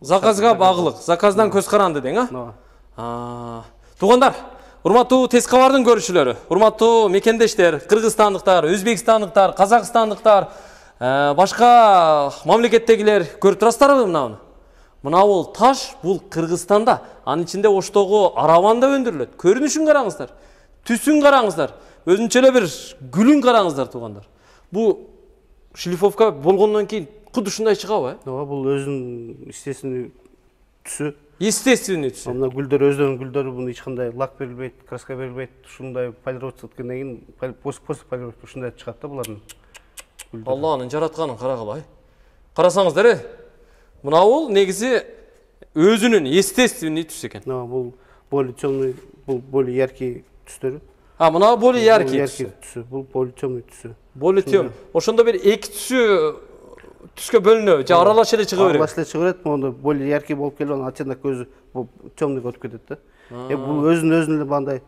Заказга багылык, заказдан көз каранды дең, а? Туугандар, урматтуу Тез кабардын көрүүчүлөрү, урматтуу мекендештер, кыргызстандыктар, өзбекстандыктар, казакстандыктар, башка мамлекеттегилер көрүп турасыздарбы мынаны? Мына бул таш, бул Кыргызстанда, анын ичинде Оштогу араванда өндүрүлөт. Көрүнүшүн караңыздар, түсүн караңыздар, өзүнчө эле бир гүлүн караңыздар туугандар. Бул шлифовка болгондон кийин куд ушундай чыгабы? Ооба, бул өзүнүн естественный түсү. Естественный түсү. Мына гүлдөр өздөрүнүн гүлдөрү, буну эч кандай лак берилбейт, краска берилбейт. Ушундай полировка өткөндөн кийин после полировка ушундай чыгат да булардын гүлдөрү. Алланын жаратканын карагыла. Карасаңыздар, мына бул негизи өзүнүн естественный түс экен. Бул более темный, бул более яркий түстөрү. Мына более яркий түсү. Бул более темный түсү. Более тем. Ошондо бир эки түскө бөлүнөбү, же аралаш эле чыга берет? Аралаш эле чыга берет, монда более яркий болуп келип, анан оттенок көзү темныйга өтүп кетет да. Бул өзүн эле мындай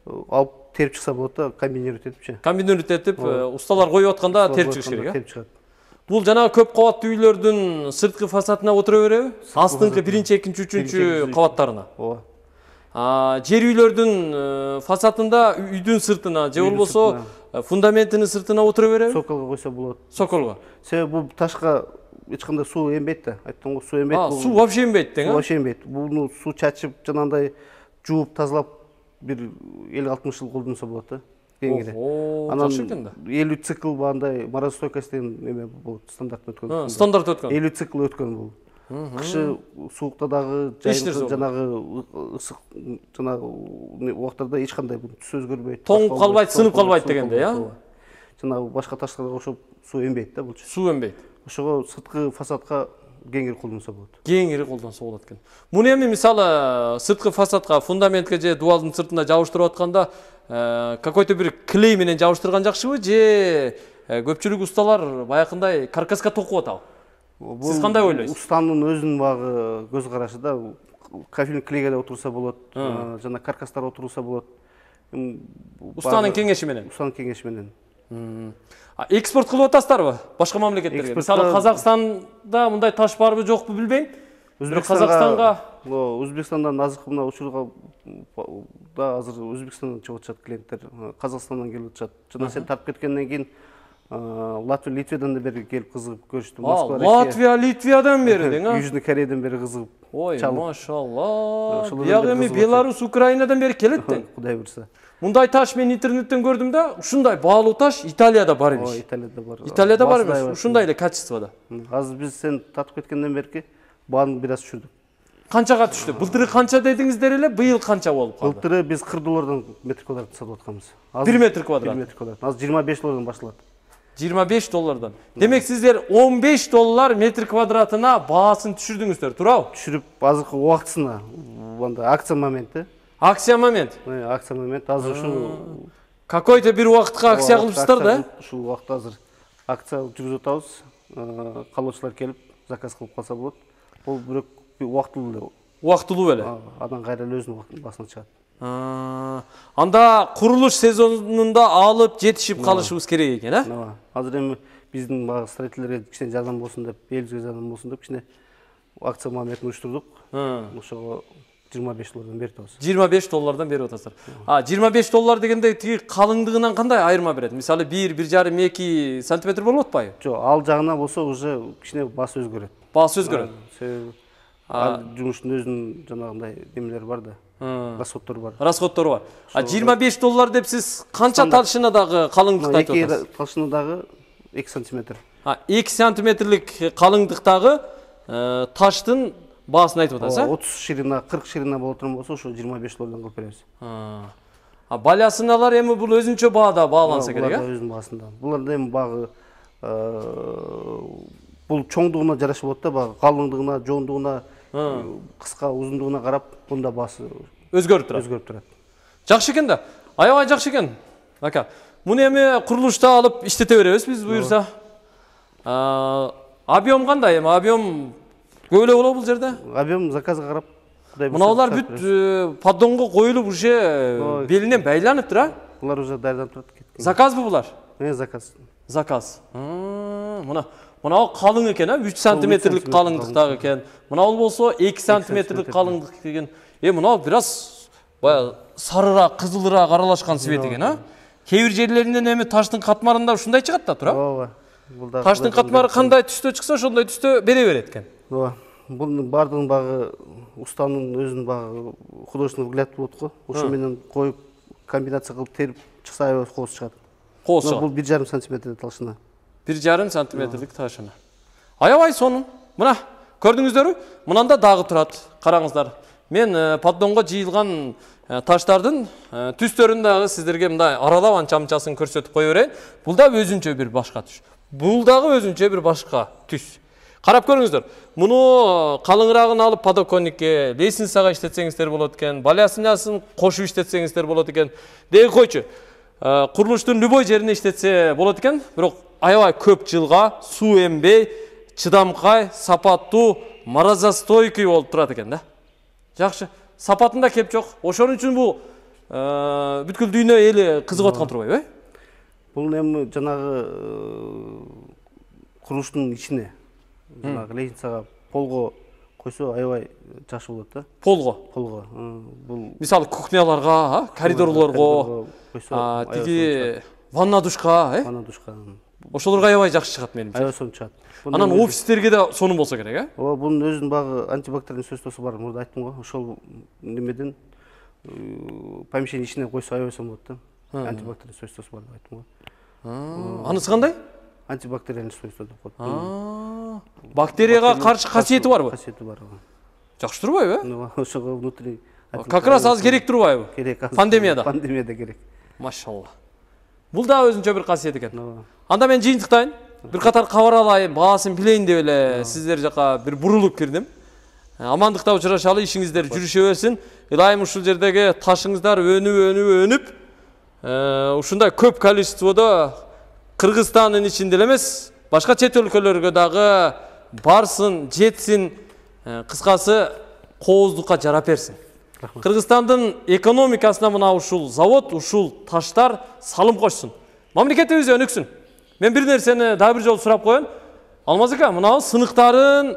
алып терип чыкса болот да, комбинировать этипчи. Комбинировать этип, усталар коюп атканда терип чыгыш керек, терип чыгат. Бул жана көп кабаттуу үйлөрдүн сырткы фасадына отура береби? Астыңкы 1-2, 3-3 кабаттарына. Ооба. Жер үйлөрдүн фасадында үйдүн сыртына же болбосо фундаментинин сыртына отура береби? Соколго койсо болот. Соколго. Себеби бул ташка эч кандай суу эмбейт да. Айттым го, суу эмбейт. Суу вообще эмбейт дең, Вообще эмбейт. Буну суу чачып, жанагындай жууп, тазалап бир 50-60 жыл колдонсо болот да. Кеңири. Жакшы экен да. 50 цикл бандай морозостойкость деген эме болот, стандарт өткөн. Стандарт өткөн. 50 цикл өткөн бул. Кышы суукта дагы, жайында жанагы ысык жанагы убактарда эч кандай түс өзгөрбөйт. Тоңуп калбайт, сынып калбайт дегенде, Жанагы башка таштарга окшоп суу эмбейт да булчу. Суу эмбейт. Ошого сырткы фасадка кеңири колдонсо болот. Кеңири колдонсо болот экен. Муну эми мисалы сырткы фасадка, фундаментке же дубалдын сыртына жабыштырып атканда какой-то бир клей менен жабыштырган жакшыбы же көпчүлүк усталар баягындай каркаска токуп атабы? Сиз кандай ойлойсуз? Устанын өзүнүн багы көз карашы да. Кафельный клейге да отурса болот, жана каркастар отурса болот. Устанын кеңеши менен. Устанын кеңеши менен. Экспорт кылып атасыздарбы башка мамлекеттерге? Мисалы Казакстанда мындай таш барбы жокпу билбейм. Казакстанга, Өзбекстандан азыркы мына учурга да азыр Өзбекстандан чыгып атышат клиенттер, Казакстандан келип атышат. Жана сен тартып кеткенден кийин Латвия, Литвиядан да бери келип кызыгып көрүштү. Москва, Латвия, Литвиядан бери дең, Южный Кореядан бери кызыгып. Ой, машалла. Бияк эми Беларусь, Украинадан бери келет дең. Кудай буйрса. Мындай таш мен интернеттен көрдүм да, ушундай баалуу таш Италияда бар эмес. Италияда бар. Италияда бар эмес, ушундай эле качествода. Азыр биз сен тартып кеткенден берки бааны бир аз түшүрдүк. Канчага түштү? Былтыры канча дедиңиздер эле, быйыл канча болуп калды? Былтыры биз $40 метр квадрат сатып атканбыз. 1 метр квадрат. 1 метр квадрат. Азыр $25 башталат. $25. Демек сиздер $15 метр квадратына баасын түшүрдүңүздөр, туурабы? Түшүрүп азыркы убактысына, мында акция моменти. Акция момент. Акция момент. Азыр ушул какой-то бир убакытка акция кылыпсыздар да? Ушул убакытта азыр акция жүргүзүп атабыз. Калоочулар келип заказ кылып калса болот. Бул бирок убактылуу эле. Убактылуу эле. Андан кайра эле өзүнүн басына чыгат. Анда курулуш сезонунда алып жетишип калышыбыз керек экен, а? Азыр эми биздин багы строительдерге кичине жардам болсун деп, элибизге жардам болсун деп кичине акция моментин уюштурдук. Ошого $25 берип атабыз. $25 берип атасыздар. $25 дегенде тиги калыңдыгынан кандай айырма берет? Мисалы 1-1,5-2 сантиметр болуп атпайбы? Жок, ал жагына болсо уже кичине баасы өзгөрөт. Баасы өзгөрөт. Себеби жумуштун өзүнүн жанагындай немелери бар да. Расходдор бар. Расходдор бар. $25 деп сиз канча талшына дагы калыңдыкты айтып атасыз? 2 талшына дагы 2 сантиметр. 2 сантиметрлик калыңдыктагы таштын баасын айтып атасыз, 30 ширина, 40 ширина боло турган болсо, ошо $25 кылып беребиз. Балясыналар эми бул өзүнчө баада бааланса керек, Булар өзүнүн баасында. Буларда эми багы бул чоңдугуна жараша болот да, багы калыңдыгына, жоондугуна, кыска, узундугуна карап, бунда баасы өзгөрүп турат. Жакшы экен да. Аябай жакшы экен. Ака, муну эми курулушта алып иштете беребиз биз буюрса. Объем кандай эми? Объем көп эле болобу бул жерде? Объем заказга карап. Мыналар бүт поддонго коюлуп уже белинен байланыптыр, а? Булар уже даярданып турат. Заказбы булар? Заказ. Заказ. Мына Мынау калың экен, 3 сантиметрлик калыңдыктагы экен. Мынау болсо 2 сантиметрлик калыңдык деген. Мынау бираз бая сарыраак, кызылыраак аралашкан свет экен, Кээ бир жерлеринен эми таштын катмарында ушундай чыгат да, туурабы? Ооба. Таштын катмары кандай түстө чыкса, ошондой түстө бере берет экен. Ооба. Бунун бардыгын багы устанын өзүнүн багы художественный взгляд болот го. Ошо менен коюп комбинация кылып терип чыкса аябай кооз чыгат. Кооз чыгат. Бул 1,5 сантиметр талшына. 1,5 сантиметрлик ташына. Аябай сонун. Мына көрдүңүздөрбү? Мынанда дагы турат. Караңыздар. Мен поддонго жыйылган таштардын түстөрүн дагы сиздерге мындай аралап анча-мынчасын көрсөтүп кое берейин. Бул да өзүнчө бир башка түс. Бул дагы өзүнчө бир башка түс. Карап көрүңүздөр. Муну калыңыраагын алып подоконникке, лестницага иштетсеңиздер болот экен, балясынасын кошуп иштетсеңиздер болот экен. Деги койчу. Курулуштун любой жерине иштетсе болот экен, бирок аябай көп жылга суу эмбей, чыдамкай, сапаттуу, морозостойкий болуп турат экен да. Жакшы. Сапатында кеп жок. Ошон үчүн бул бүткүл дүйнө эли кызыгып аткан турбайбы? Бул эми жанагы курулуштун ичине, жанагы лестницага полго койсо аябай жакшы болот да. Полго. Бул мисалы кухняларга, коридорлорго, тиги ванна душка, Ванна душка. Ошолорго аябай жакшы чыгат менимче. Аябай сонун чыгат. Анан офистерге да сонун болсо керек, Ооба, бунун өзүнүн багы антибактериальный свойствосу бар. Мурда айттым го, ошол немеден помещение ичине койсо аябай сонун болот да. Антибактериальный свойствосу бар деп айттым го. Анысы кандай? Антибактериальный свойство деп коет. Бактерияга каршы касиети барбы? Касиети бар. Жакшы турбайбы? Ошого внутри. Как раз аз керек турбайбы? Керек. Пандемияда. Пандемияда керек. Машалла. Бул да өзүнчө бир касиет экен. Анда мен жыйынтыктайын. Бир катар кабар алайын, баасын билейин деп эле сиздер жака бир бурулуп кирдим. Амандыкта учурашалы, ишиңиздер жүрүшө берсин. Ылайым ушул жердеги ташыңыздар өнүп, ушундай көп количестводо Кыргызстандын ичинде эмес, башка чет өлкөлөргө дагы барсын, жетсин, кыскасы кооздукка жарап берсин. Кыргызстандын экономикасына мына ушул завод, ушул таштар салым кошсун. Мамлекетибиз өнүксүн. Мен бир нерсени дагы бир жолу сурап коеюн. Алмаз ака, мына сыныктарын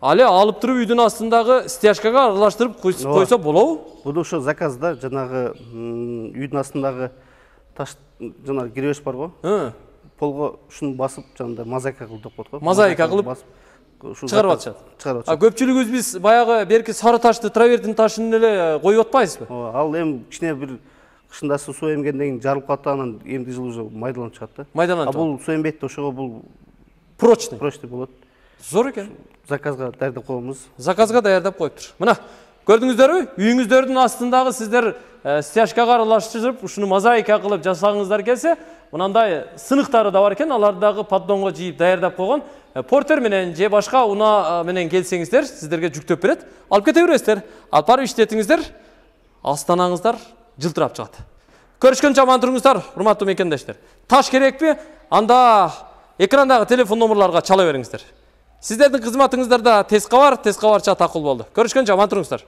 али алып туруп үйдүн астындагы стяжкага аралаштырып койсо болобу? Бул ошо заказда жанагы үйдүн астындагы таш жанагы киребеш бар го. Полго ушуну басып жанында мозаика кылып деп коет го. Мозаика кылып чыгарып атышат. Көпчүлүгүбүз биз баягы берки сары ташты, травертин ташын эле коюп атпайбызбы? Ал эми кичине бир кышында суу эмгенден кийин жарылып калат, анан эмди жылы уже майдаланып чыгат да. Майдаланып. Бул суу эмбейт, ошого бул прочный болот. Зор экен. Заказга даярдап коебуз. Заказга даярдап коюптур. Мына көрдүңүздөрбү? Үйүңүздөрдүн астындагы сиздер стяжкага аралаштырып, ушуну мозаика кылып жасагыңыздар келсе, мынандай сыныктары да бар экен, аларды дагы поддонго жыйып даярдап койгон. Портер менен же башка уна менен келсеңиздер, сиздерге жүктөп берет. Алып кете бересиздер. Алып барып иштетиңиздер. Астанаңыздар жылтырап чыгат. Көрүшкөнчө аман туруңуздар, урматтуу мекендештер. Таш керекпи? Анда экрандагы телефон номерларга чала бериңиздер. Сиздердин кызматыңыздарда тез кабар чат акыл болду. Көрүшкөнчө аман туруңуздар.